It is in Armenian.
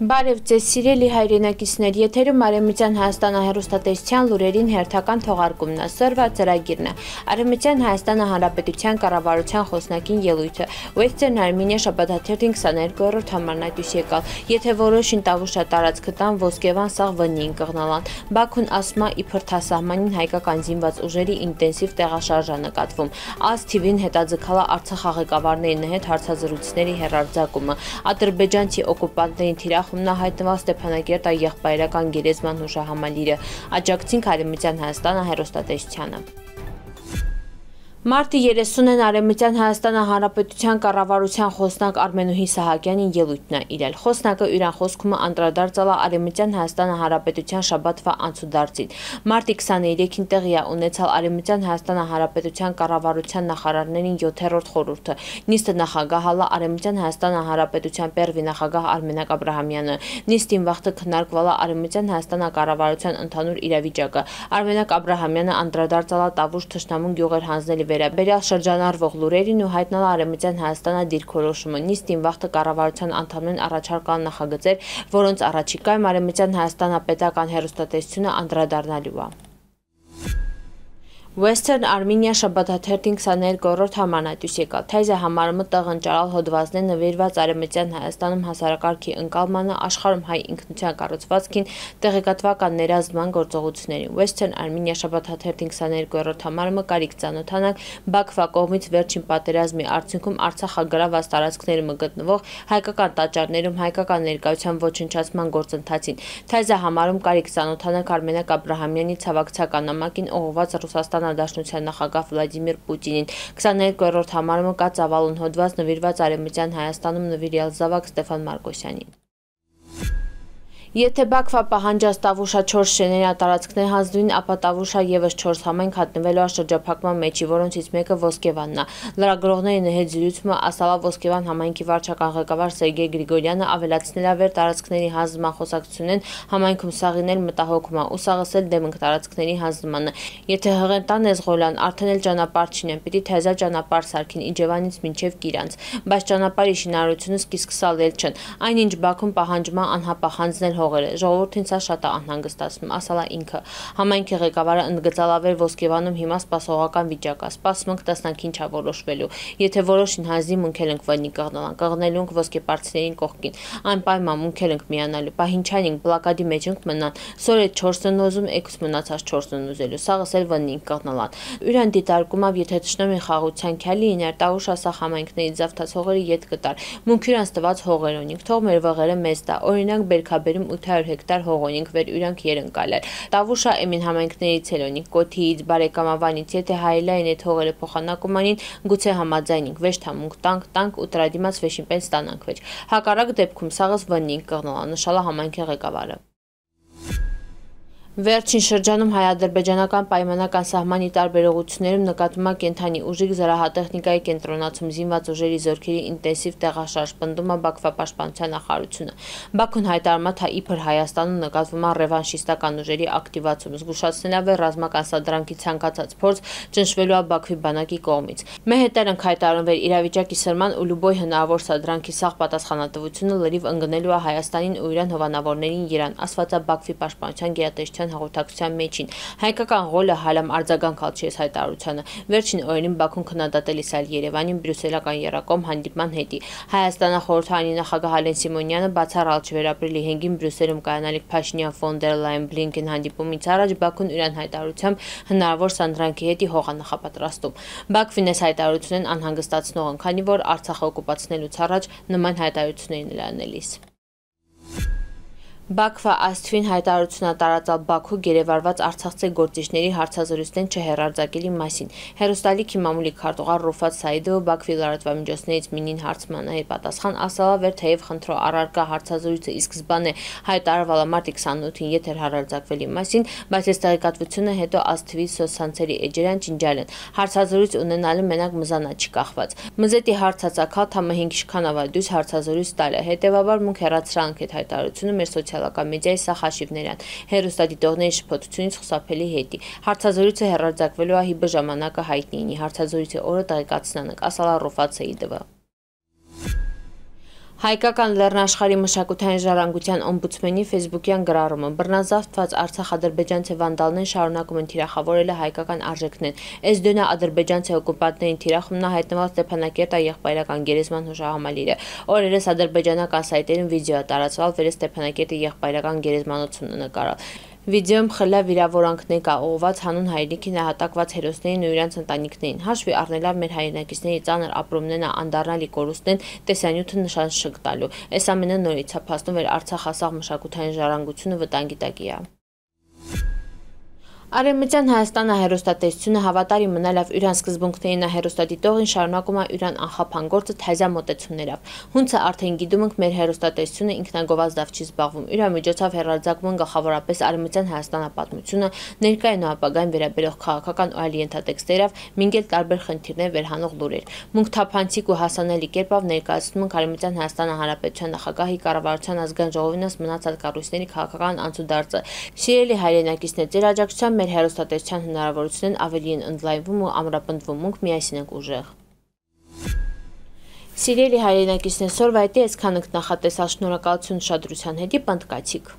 Բարև ձեզ սիրելի հայրենակիցներ, եթերում Արևմտյան Հայաստանը հեռուստատեսության լուրերին հերթական թողարկումն է, սրվա ծրագիրն է։ Արևմտյան Հայաստանը Հանրապետության կառավարության խոսնակին ելույթը, Western Armenia շաբաթաթերթին 22-րդ համարն այդ ուշ եկալ, եթե որոշին Տավուշա տարածքը տան Ոսկեվան սաղ վնին կղնալան, Բաքուն ասմա իբր թասահմանին հայկական զինված ուժերի ինտենսիվ տեղաշարժ է նկատվում, ազ թիվին հետաձգալա Արցախ աղեկավարներին հետ հարցազրույցների հեռարձակումը, ադրբեջանցի օկուպանտներին թիրախումն հայտնված Ստեփանակերտ եղբայրական գերեզման հուշահամալիրը, աջակցին Արևմտյան Հայաստանը հեռուստատեսությանը։ Մարտի 30-ին Արևմտյան Հայաստանը Հանրապետության կառավարության խոսնակ Արմենուհի Սահակյանին ելույթն է իրել։ Խոսնակը իրան խոսքումը անդրադարձել է Արևմտյան Հայաստանը Հանրապետության շաբաթվա անցուդարձին։ Մարտի 23-ին տեղի է ունեցել Արևմտյան Հայաստանը Հանրապետության կառավարության նախարարներին 7-րդ խորհուրդը։ Նիստը նախագահալա Արևմտյան Հայաստանը Հանրապետության Պերվի նախագահ Արմենակ Աբրահամյանը։ Նիստին վաղը քննարկվել է Արևմտյան Հայաստանը կառավարության ընդհանուր իրավիճակը։ Արմենակ Աբրահամյանը անդրադարձել է Տավուշ թշնամուն գյուղեր հանձնելի վերաբերյալ շրջանառվող լուրերին ու հայտնել Արևմտյան Հայաստանը դիրքորոշումը։ Նիստին վաղը կառավարության անդամներն առաջարկան նախագծեր, որոնց առաջիկայում Արևմտյան Հայաստանապետական հեռուստատեսությունը անդրադառնալու է։ Western Armenia շաբաթաթերթին 22-րդ համարն այդ ուշ եկալ, Թայզը համարումը տեղընճարալ հոդվածներ նվիրված Արևմտյան Հայաստանում հասարակարգի ընկալմանը, աշխարհում հայ ինքնության կառուցվածքին, տեղեկատվական ներազդման գործողություններին։ Western Armenia շաբաթաթերթին 22-րդ համարումը կարիք ծանոթանալ Բաքվա կողմից վերջին պատերազմի արդյունքում Արցախագրաված տարածքներում գտնվող հայկական տաճարներում հայկական ներկայության ոչնչացման գործընթացին։ Թայզը համարում կարիք ծանոթանալ Արմենակ Աբրահամյանի ցավակցական նամակին ուղղված Ռուսաստան Դաշնության նախագահ Վլադիմիր Պուտինին 22-րդ համարումը կա ծավալուն հոդված նվիրված Արևմտյան Հայաստանում նվիրյալ զավակ Ստեփան Մարկոսյանին։ Եթե Բաքվա պահանջած Տավուշա 4 շեներատարածքներ հանձնվին, ապա Տավուշա եւս 4 համայնք հայտնվելու է շրջափակման մեջի, որոնցից մեկը Ոսկեվանն է։ Լրագրողների հետ զրույցում ասալա Ոսկեվան համայնքի վարչական ղեկավար Սերգեյ Գրիգորյանը ավելացնել է վեր տարածքների հանձնման խոսակցությունեն համայնքում սաղինել մտահոգում է ու սաղսել դեմ տարածքների հանձնմանը։ Եթե հղենտան Էզղոլյան արդեն էլ ճանապարհ չինեն, պիտի թեզա ճանապարհ սարքին Իջևանից մինչև Կիրանց, բայց ճանապարհի շինարարությունը սկսալել չեն։ Այնինչ Բաքուն պահանջում է անհապաղ հանձնել Ժողովրդին սա շատ է անհանգստացնում, ասալա ինքը։ Համայնքի ղեկավարը ընդգծալավեր Ոսկեվանում հիմա սպասողական վիճակ է, սպասում ենք տեսնանք ինչ է որոշվելու։ Եթե որոշին հանձնի մունքել ենք վնի կղնալան, կղնելու ենք ոսկեպարծիներին կողքին, այն պայման մունքել ենք միանալու, պահինչան ենք բլոկադի մեջ ենք մնան, սորետ 4-ն ուզում, եկուս մնացած 4-ն ուզելու, սաղս էլ վնի կղնալան։ Ուրան դիտարկումով եթե թշնամի խաղության քյալի իներ Տավուշա սա համայնքների զավթած հողերի ետ կտար, մունքյուրանց տված հողեր ունենք, թող մեր վղերը մեզ տա, օրինակ Բերքաբերում 800 հեկտար հող ունենք վեր ուրանք երընկալել։ Տավուշա էմին համայնքներից էլ ունենք Կոթիից, Բարեկամավանից, եթե հայելային այդ հողերը փոխանակումանին գուցե համաձայնենք, վեճ թամունք տանք ու տրադիմաց վեշին պես ստանանք վեճ։ Հակառակ դեպքում սաղս վննին կղնալա, նշալա համայնքի ղեկավարը։ Վերջին շրջանում հայ-ադրբեջանական պայմանական սահմանի տարբերողություններում նկատվում է կենդանի ուժիկ զրահատեխնիկայի կենտրոնացում զինված ուժերի զորքերի ինտենսիվ տեղաշարժ, պնդում է Բաքվա պաշտպանության նախարարությունը։ Բաքուն հայտարարում է, թե իբր Հայաստանում նկատվում է ռևանշիստական ուժերի ակտիվացում, զգուշացնելով է ռազմական սադրանքի ցանկացած փորձ ճնշվելու է Բաքվի բանակի կողմից։ Մեհետեր ենք հայտարարում վեր իրավիճակի սրման ու լուբոյ հնարավոր սադրանքի սաղ պատասխանատվությունը լրիվ ընկնելու է Հայաստանին ու իրան հովանավորներին Իրան, ասված է Բաքվի պաշտպանության գերատեսչության հաղորդակցության մեջին։ Հայկական ղոլը հալամ արձագանքալ չի հայտարարությանը։ Վերջին օրերին Բաքուն քննադատելիս այլ Երևանին բրյուսելական եռակոմ հանդիպման հետի։ Հայաստանախորհրդարանի նախագահ Ալեն Սիմոնյանը բացառալ չվերապրիլի 5-ին Բրյուսելում կայանալիք Փաշինյան ֆոն դեր Լայն Բլինկեն հանդիպումից առաջ Բաքուն իրան հայտարարությամբ հնարավոր սանդրանքի հետի հող է նախապատրաստում։ Բաքվին այս հայտարարությունն անհանգստացնող են, քանի որ Արցախը օկուպացնելուց առաջ նման հայտարարություններ լանելիս։ Բաքվա աստվին հայտարարություն է տարածել Բաքու գերեվարված արցախցի գործիչների հարցազրույցներն չհեռարձակելի մասին։ Հեռուստալիքի մամուլի քարտուղար Ռուֆատ Սայիդովը Բաքվի լրատվամիջոցներից մինին հարցմանը պատասխան ասալա վեր թեև խնդրո առարկա հարցազրույցը ի սկզբանե հայտարարվել է մարտի 28-ին եթեր հեռարձակվելի մասին, բայց այս տեղեկատվությունը հետո աստվի սոցցանցերի էջերան ջնջալ են։ Հարցազրույց ունենալը մենակ մզանա չկախված։ Մզետի հարցացակալ թամը 5 շքանավա դույս հարցազրույց տալ է։ Հետևաբար մունք հեռացրանք այդ հայտարարությունը մեր սոցիալական մեդիայի սա խաշիվներան, հեռուստադիտողների շփոթությունից խուսափելի հետի։ Հարցազրույցը հեռարձակվելու է հիբը ժամանակը հայտնի ինի, հարցազրույցի օրը տեղեկացնանք, ասալա Ռուֆատ Սեիդովը։ Հայկական լեռնաշխարհի մշակութային ժառանգության օմբուդսմենի ֆեյսբուքյան գրառումը բռնազավթված արցախ-ադրբեջանցի վանդալներն շարունակում են թիրախավորել հայկական արժեքներն։ Էսդոնա ադրբեջանցի օկուպանտներին թիրախումն հայտնված Ստեփանակերտա եղբայրական գերեզման հուշահամալիրը։ Օրերս ադրբեջանական սայթերում վիդեո է տարածվել վեր Ստեփանակերտի եղբայրական գերեզմանոցությունը նկարալ։ Վիդեոյում խլա վիրավորանքներ կա ուղղված հանուն հայրենիքի նահատակված հերոսներին ու իրենց ընտանիքներին։ Հաշվի առնելով մեր հայրենակիցների ծանր ապրումներն անդառնալի կորուստներն տեսանյութը նշան շղթալու։ Այս ամենը նորից է փաստում, որ Արցախ ասաղ մշակութային ժառանգությունը վտանգի տակ է։ Արևմտյան Հայաստանը հեռուստատեսությունը հավատարիմ մնալով իրան սկզբունքներին հեռուստադիտողին շարունակում է իրան անխափան գործը թեզա մոտեցումներով։ Հունցը արդեն գիտում ենք մեր հեռուստատեսությունը ինքնագովազդավ չի զբաղվում։ Իր միջոցով հեռարձակվում գլխավորապես արևմտյան Հայաստանապատմությունը, ներկային ու ապագային վերաբերող քաղաքական ու այլ ենթատեքստերով, մինչև տարբեր խնդիրներ վերհանող լուրեր։ Մունք թափանցիկ ու հասանելի կերպով ներկայացնում ենք Արևմտյան Հայաստան Հանրապետության նախագահի կառավարության ազգային ժողովինս մնացած կառույցների քաղաքական անցուդարձը։ Սիրելի հայրենակիցներ, ձեր աջակցությամբ մեր հեռուստատեսության հնարավորություններն ավելի են ընդլայնվում ու ամրապնդվում, մենք միասին ենք ուժեղ։ Սիրելի հայրենակիցներ, սորվայտի այսքան ենք նախատեսած, շնորհակալություն ուշադրության հետ, պնդկացիք։